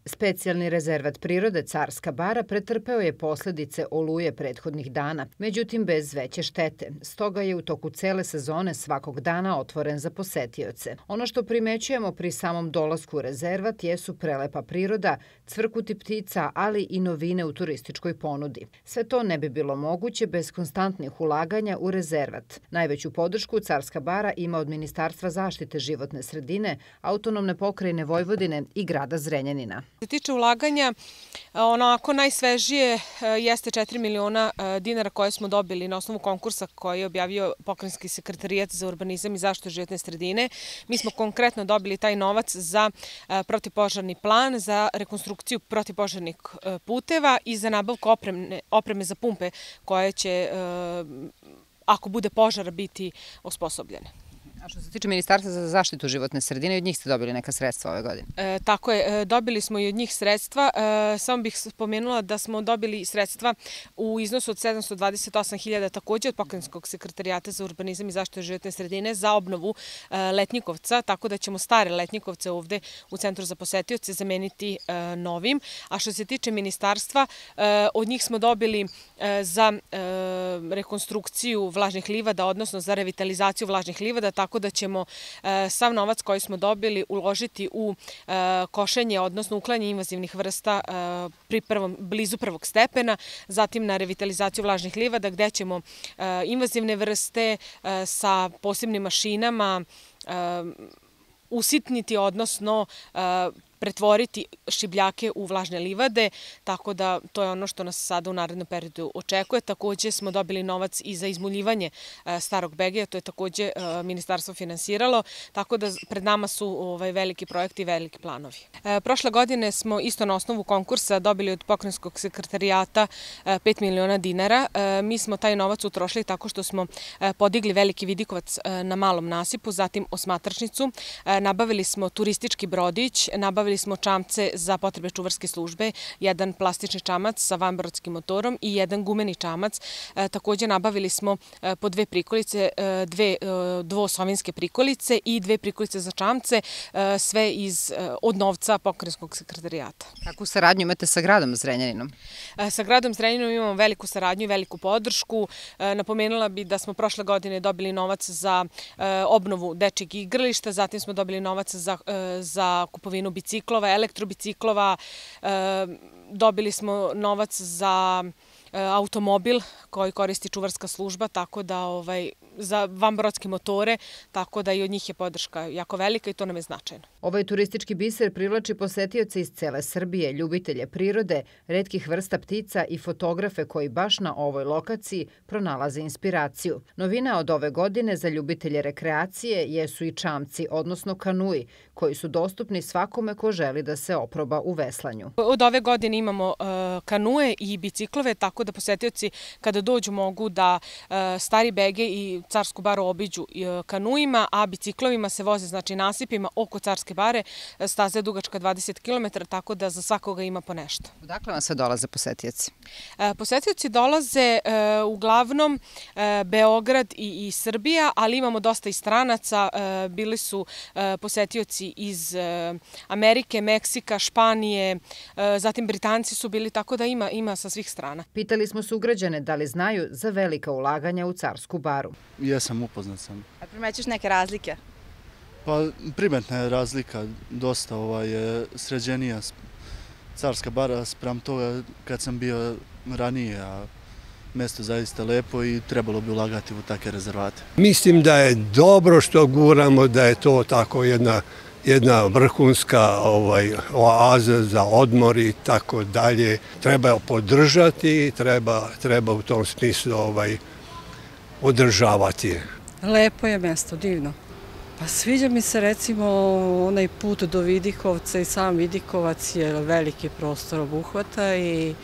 Specijalni rezervat prirode Carska bara pretrpeo je posledice oluje prethodnih dana, međutim bez veće štete. Stoga je u toku cele sezone svakog dana otvoren za posetioce. Ono što primećujemo pri samom dolasku u rezervat jesu prelepa priroda, cvrkuti ptica, ali i novine u turističkoj ponudi. Sve to ne bi bilo moguće bez konstantnih ulaganja u rezervat. Najveću podršku Carska bara ima od Ministarstva zaštite životne sredine, Autonomne pokrajine Vojvodine i grada Zrenjanina. Što se tiče ulaganja, onako najsvežije jeste 4 miliona dinara koje smo dobili na osnovu konkursa koji je objavio Pokrajinski sekretarijat za urbanizam i zaštitu životne sredine. Mi smo konkretno dobili taj novac za protivpožarni plan, za rekonstrukciju protivpožarnih puteva i za nabavku opreme za pumpe koje će, ako bude požara, biti osposobljene. A što se tiče Ministarstva za zaštitu životne sredine, od njih ste dobili neka sredstva ove godine? Tako je, dobili smo i od njih sredstva. Samo bih spomenula da smo dobili sredstva u iznosu od 728.000 takođe od Pokrajinskog sekretarijata za urbanizam i zaštitu životne sredine za obnovu Letnjikovca, tako da ćemo stare Letnjikovce ovde u Centru za posetioce zameniti novim. A što se tiče Ministarstva, od njih smo dobili za rekonstrukciju vlažnih livada, odnosno za revitalizaciju vlažnih livada, tako da ćemo sav novac koji smo dobili uložiti u košenje, odnosno uklanjanje invazivnih vrsta blizu prvog stepena, zatim na revitalizaciju vlažnih livada gde ćemo invazivne vrste sa posebnim mašinama usitniti, odnosno pretvoriti šibljake u vlažne livade, tako da to je ono što nas sada u narednom periodu očekuje. Takođe smo dobili novac i za izmuljivanje starog Begeja, to je takođe ministarstvo finansiralo, tako da pred nama su veliki projekti i veliki planovi. Prošle godine smo isto na osnovu konkursa dobili od Pokrajinskog sekretarijata 5 miliona dinara. Mi smo taj novac utrošili tako što smo podigli veliki vidikovac na malom nasipu, zatim osmatračnicu, nabavili smo turistički brodić, nabavili smo čamce za potrebe čuvarske službe, jedan plastični čamac sa vanbrodskim motorom i jedan gumeni čamac. Takođe nabavili smo po 2 prikolice, 2 dvosovinske prikolice i 2 prikolice za čamce, sve od novca Pokrajinskog sekretarijata. Kakvu saradnju imate sa gradom Zrenjaninom? Sa gradom Zrenjaninom imamo veliku saradnju i veliku podršku. Napomenula bi da smo prošle godine dobili novac za obnovu dečjeg igrališta, zatim smo dobili novac za kupovinu biciklova, elektrobiciklova, dobili smo novac za automobil koji koristi čuvarska služba, tako da za vanbrodske motore, tako da i od njih je podrška jako velika i to nam je značajno. Ovaj turistički biser privlači posetioce iz cele Srbije, ljubitelje prirode, retkih vrsta ptica i fotografe koji baš na ovoj lokaciji pronalaze inspiraciju. Novina od ove godine za ljubitelje rekreacije jesu i čamci, odnosno kanui, koji su dostupni svakome ko želi da se oproba u veslanju. Od ove godine imamo kanue i biciklove, tako da posetioci kada dođu mogu da Stari Begej i Carsku baru obiđu kanuima, a biciklovima se voze nasipima oko Carske bare. Staza je dugačka 20 km, tako da za svakoga ima po nešto. Odakle vam se dolaze posetioci? Posetioci dolaze uglavnom Beograd i Srbija, ali imamo dosta i stranaca. Bili su posetioci iz Amerike, Meksika, Španije, zatim Britanci su bili, tako da ima sa svih strana. Pitali smo sugrađane da li znaju za velika ulaganja u Carsku baru. Jesam, upoznat sam. A primećuješ neke razlike? Pa primetna je razlika, dosta sređenija Carska bara spram toga kad sam bio ranije, a mesto zaista lepo i trebalo bi ulagati u takve rezervate. Mislim da je dobro što guramo, da je to tako jedna vrhunska oaza za odmor i tako dalje. Treba podržati, treba u tom smislu održavati. Lepo je mesto, divno. Pa sviđa mi se recimo onaj put do Vidikovca i sam Vidikovac je veliki prostor obuhvata i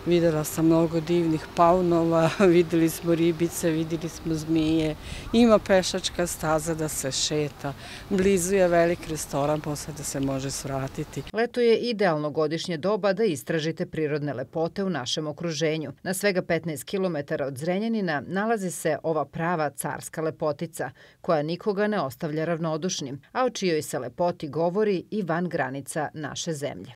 videla sam mnogo divnih paunova, videli smo ribice, videli smo zmije, ima pešačka staza da se šeta, blizu je velik restoran, posle da se može svratiti. Leto je idealno godišnje doba da istražite prirodne lepote u našem okruženju. Na svega 15 km od Zrenjanina nalazi se ova prava carska lepotica, koja nikoga ne ostavlja ravnodušnim, a o čijoj se lepoti govori i van granica naše zemlje.